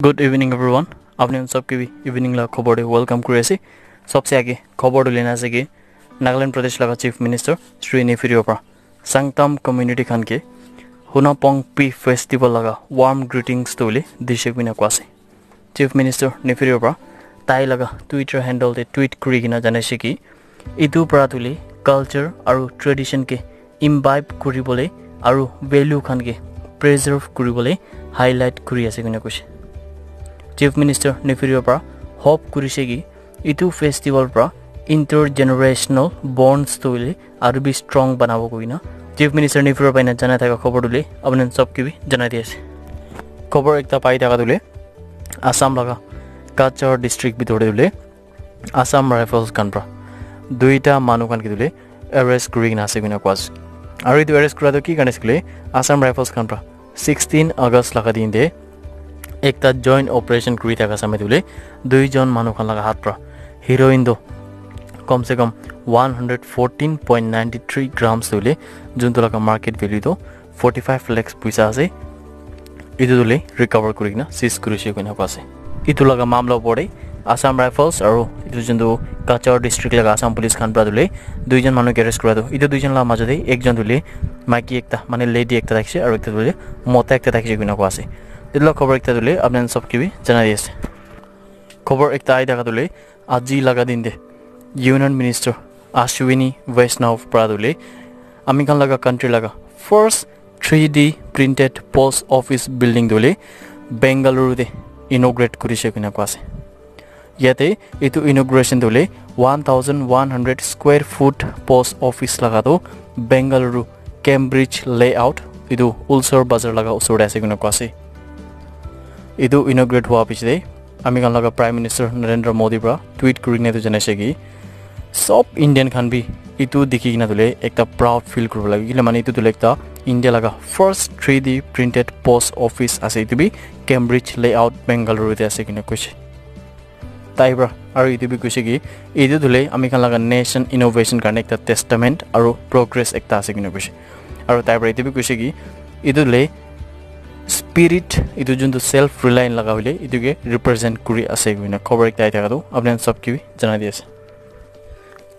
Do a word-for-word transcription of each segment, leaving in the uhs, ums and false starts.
Good evening, everyone. Apni khan sob ke bhi evening la khobor te welcome kuri ase. Sobse aage khobor tu lena ase ki Nagaland Pradesh laga Chief Minister Shri Neiphiu Rio para Sangtam community khan ke Hunapong Pi Festival laga warm greetings tu le dishe kuina kwa ase. Chief Minister Neiphiu Rio para tai laga Twitter handle te tweet kuri kena janaise ki itu para tu le culture aru tradition ke imbibe kuribole aru value khan ke preserve kuribole highlight kuri ase koina koise. Chief Minister Neiphiu Rio para hope kurise ki itu festival para intergenerational bonds tu le aru bi strong banabo koina Chief Minister Neiphiu Rio para ena janai thaka khobor tu le apni sob ke bi janai di ase. Khobor ekta pai thaka tu le Assam laga Cachar district bitor te tu le Assam Rifles khan pra duita manu khan ke tu le arrest kuri kena ase koina koa ase. Aru etu arrest kura tu ki karne ase koile Assam Rifles khan pra sixteen August laga din te ekta joint operation kuri thaka samay tu le duijon manu khan laga hath pra heroin tu kom se kom one hundred fourteen point nine three grams tu le juntu laga market value tu forty five lakhs puisa ase. Etu tu le recover kuri kena seize kuri se koina koa ase. Etu laga mamla opor te Assam Rifles aru etu juntu Cachar district laga Assam police khan pra tu le duijon manu ke arrest kura tu etu duijon laga majo te ekjon tu le maiki ekta mane lady ekta thakise aru ekta tu le mota ekta thakise koina koa ase. Etu laga khobor ekta tu le apni khan sob ke bi janai di ase. Khobor ekta ahi thaka tu le aji laga din te Union Minister Ashwini Vaishnaw pra tu le ami khan laga country laga first three D printed post office building tu le Bengaluru te inaugurate kuri se koina koa ase. Yate etu inauguration tu le one thousand one hundred square foot post office laga tu Bengaluru Cambridge layout etu Ulsar Bazar laga usor te ase koina koa ase. Etu inaugurate hua piche te ami khan laga Prime Minister Narendra Modi pra tweet kuri kena etu janaise ki sob Indian khan bi etu dikhi kena tu le ekta proud feel kuribo lage. Kile mane etu tu le ekta India laga first three D printed post office ase. Etu bi Cambridge layout Bengaluru te ase koina koise. Tai pra aru etu bi koise ki etu tu le ami khan laga nation innovation karne ekta testament aru progress ekta ase koina koise. Aru tai pra etu bi koise ki etu le spirit etu juntu self reliant laga hoile etu ke represent kuri ase koina khobor ekta ahi thaka tu apni khan sob ke bi janai di ase.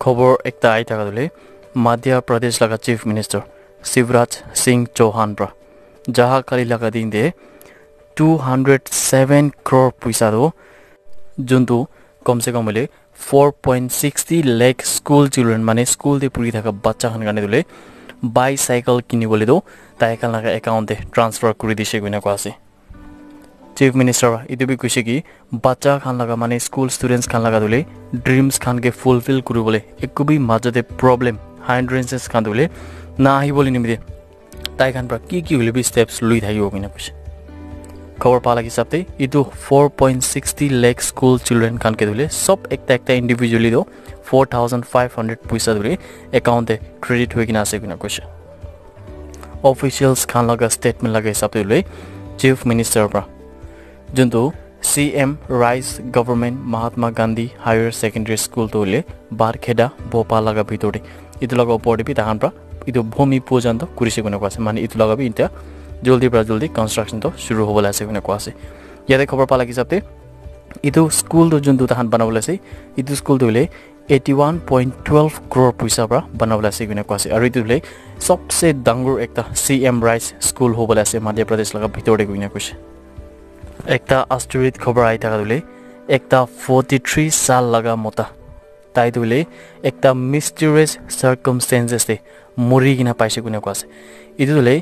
Khobor ekta ahi thaka tu le Madhya Pradesh laga Chief Minister Shivraj Singh Chauhan pra jaha kali laga din te two hundred seven crore puisa tu juntu kom se kom hoile four point sixty lakh school children mane school te puri thaka bacha khan karne tu le bicycle kini bole tu tai khan laga account te transfer kuri dise koina koa ase. Chief Minister pra etu bi koise ki bacha khan laga mane school students khan laga tu le dreams khan ke fulfill kuri bole eku bi majo te problem hindrances khan tu le na ahi bole nimite tai khan pra ki ki hoile bi steps lui thakibo koina koise. Khobor pa laga hisab te etu four point sixty lakh school children khan ke tu le sob ekta ekta individually tu four thousand five hundred puisa tu le account te credit hoi kena ase koina koise. Officials khan laga statement laga hisab te tu le Chief Minister pra juntu C M Rise Government Mahatma Gandhi Higher Secondary School tu le Barkheda Bhopal laga bitor te etu laga opor te bi tahan pra etu bhumi pujan tu kurise koina koa ase. Mane etu laga bi etia jaldi pra jaldi construction tu shuru hobo le ase koina koa ase. Yate khobor pa laga hisab te etu school tu juntu tahan banabo le ase etu school tu hoile eighty one point twelve crore puisa pra banabo le ase koina koa ase. Aru etu hoile sobse dangor ekta C M Rise school hobo le ase Madhya Pradesh laga bitor te koina koise. Ekta astorit khobor ahi thaka tu le ekta forty three saal laga mota tai tu le ekta mysterious circumstances te muri kena paise koina koa ase. Etu tu le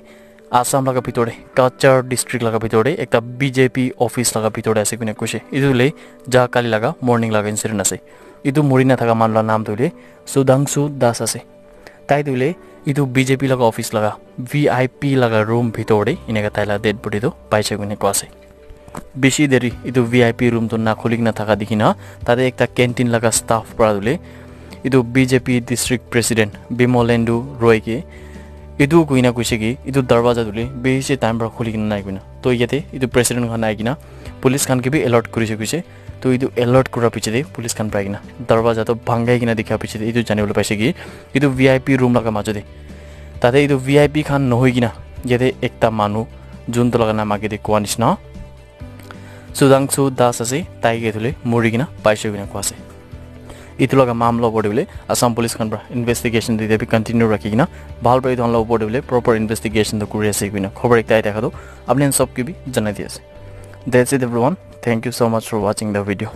Assam laga bitor te Cachar district laga bitor te ekta B J P office laga bitor te ase koina koise. Etu tu le jaha kali laga morning laga incident ase. Etu muri na thaka manu laga naam tu le Sudhangshu Das ase. Tai tu le etu B J P laga office laga V I P laga room bitor te eneka tai laga dead body tu paise koina koa ase. Bishi deri etu V I P room tu na khuli kena thaka dikhi na tate ekta canteen laga staff pra tu le etu B J P district president Bimolendu Roy ke etu koina koise ki etu darwaja tu le bishi time pra khuli kena nai koina. To yate etu president khan ahi kena police khan ke bi alert kurise koise. To etu alert kura piche te police khan pra ahi kena darwaja tu bhangai kena dikha piche te etu jani bole paise ki etu V I P room laga majo te tate etu V I P khan nohoi kena yate ekta manu juntu laga naam age te koa nishina Sudhangshu Das ase, tai ke etu hoile muri kena paise koina koa ase. Etu laga mamla opor te hoile Assam Police khan para investigation dite bi continue rakhi kena bhal para etu khan la opor te hoile proper investigation toh kuri ase koina khobor ekta ahi thaka toh apni khan sob ke bi janai di ase. That's it everyone. Thank you so much for watching the video.